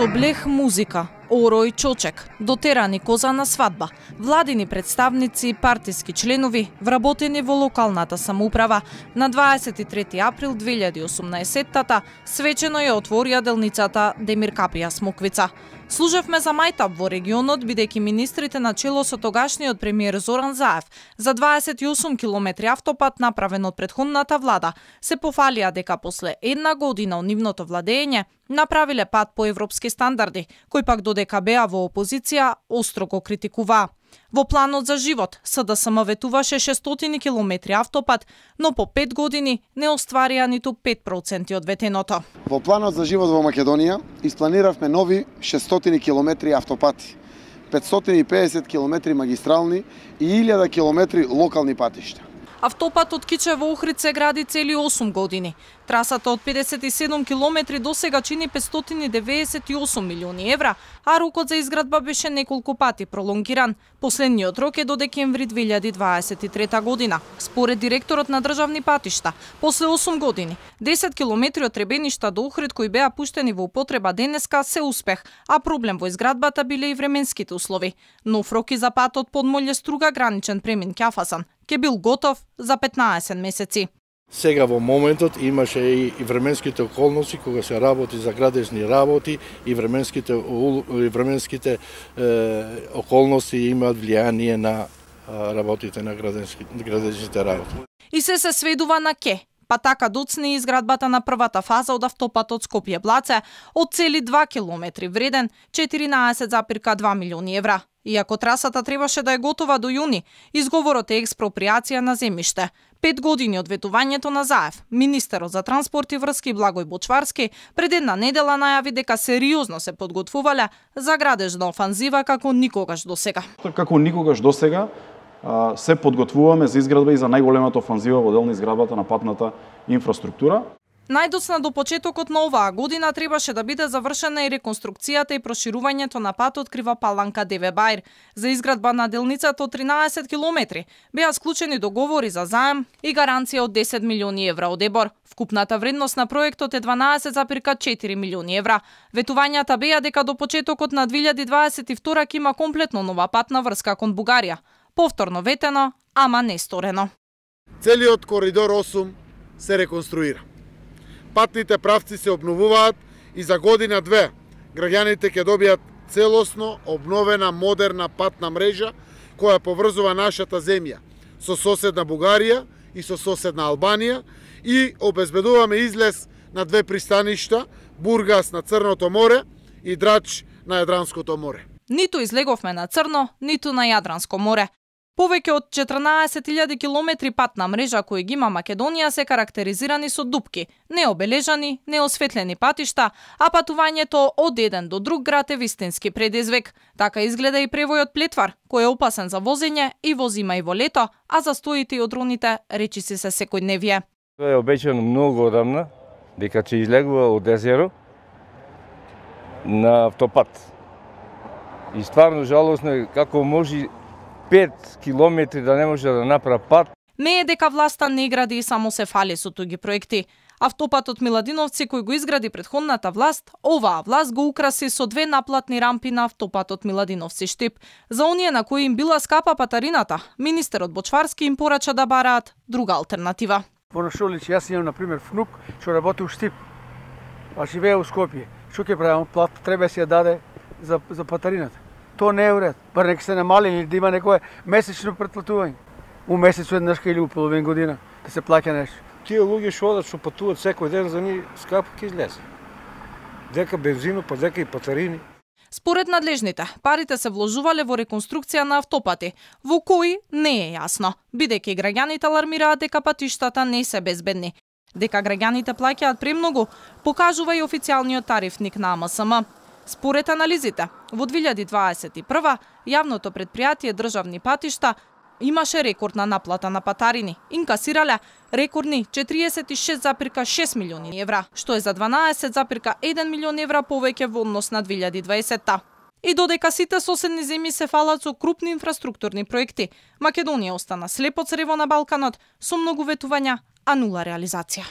Со блех музика, оро и чочек, дотерани коза на свадба, владини представници и партиски членови вработени во локалната самоуправа, на 23 април 2018-тата свечено ја отворија делницата Демир Капија Смоквица. Служевме за мајтап во регионот, бидејќи министрите на чело со тогашниот премиер Зоран Заев за 28 километри автопат направен од претходната влада се пофалија дека после една година од нивното владење направиле пат по европски стандарди, кој пак додека беа во опозиција остро го критикуваа. Во планот за живот СДСМ ветуваше 600 километри автопат, но по 5 години не остварија ниту 5% од ветеното. Во планот за живот во Македонија испланиравме нови 600 километри автопати, 550 километри магистрални и 1000 километри локални патишта. Автопат од Кичево Охрид се гради цели 8 години. Трасата од 57 километри досега чини 598 милиони евра, а рокот за изградба беше неколку пати пролонгиран. Последниот рок е до декември 2023 година. Според директорот на државни патишта, после 8 години, 10 километри од Требеништа до Охрид кои беа пуштени во употреба денеска се успех, а проблем во изградбата биле и временските услови. Нов рок и за патот Подмолје Струга граничен премин Ќафасан ке бил готов за 15 месеци. Сега во моментот имаше и временските околности кога се работи за градежни работи и временските околности имаат влијание на работите на градежните работи. И се сведува на ке. Па така доцни изградбата на првата фаза од автопатот Скопје-Блаце од цели 2 километри вреден 14,2 милиони евра. Иако трасата требаше да е готова до јуни, изговорот е експроприација на земјиште. 5 години од ветувањето на Заев, министерот за транспорт и врски Благој Бочварски пред една недела најави дека сериозно се подготвувале за градежна офанзива како никогаш досега. Како никогаш досега се подготвуваме за изградба и за најголемата офанзива во дел на изградбата на патната инфраструктура. Најдоцна до почетокот на оваа година требаше да биде завршена и реконструкцијата и проширувањето на патот Крива Паланка Деве Бајр. За изградба на делницата од 13 километри беа склучени договори за заем и гаранција од 10 милиони евра од ЕБОР. Вкупната вредност на проектот е 12,4 милиони евра. Ветувањата беа дека до почетокот на 2022 ќе има комплетно нова патна врска кон Бугарија. Повторно ветено, ама не сторено. Целиот коридор 8 се реконструира. Патните правци се обновуваат и за година-две граѓаните ќе добијат целосно обновена модерна патна мрежа која поврзува нашата земја со соседна Бугарија и со соседна Албанија и обезбедуваме излез на две пристаништа, Бургас на Црното море и Драч на Јадранското море. Ниту излеговме на Црно, ниту на Јадранско море. Повеќе од 14.000 километри патна мрежа кои ги има Македонија се карактеризирани со дупки, необележани, неосветлени патишта, а патувањето од еден до друг град е вистински предизвик. Така изгледа и превојот Плетвар, кој е опасен за возење и во зима и во лето, а застоите и одроните речиси се секојдневие. Тоа е обечено многу одамна, дека ќе излегува од езеро на автопат. И стварно жалосно е како може 5 километри да не може да направи пат. Не е дека власта не гради и само се фали со туги проекти. Автопатот Миладиновци кој го изгради претходната власт, оваа власт го украси со 2 наплатни рампи на автопатот Миладиновци Штип. За оние на кои им била скапа патарината, министерот Бочварски им порача да бараат друга алтернатива. Во Шолич, јас имам на пример внук што работи у Штип, а живее у Скопје. Што ќе правам? Плат треба се ја даде за патарината. То не е уред. Бар нека се намали или да има некое месечно претплатување. У месец еднаш или у половин година да се плаќа нешто. Тие луѓе што одат што патуваат секој ден за нив скапо ќе излезе. Дека бензино, па дека и патарини. Според надлежните, парите се вложувале во реконструкција на автопати, во кои не е јасно, бидејќи граѓаните алармираат дека патиштата не се безбедни. Дека граѓаните плаќаат премногу, покажува и официјалниот тарифник на АМСМ. Според анализите, во 2021 јавното предпријатие државни патишта имаше рекордна наплата на патарини. Инкасирале рекордни 46,6 милиони евра, што е за 12,1 милион евра повеќе во однос на 2020-та. И додека сите соседни земји се фалат со крупни инфраструктурни проекти, Македонија остана слепо црево на Балканот со многу ветувања, а нула реализација.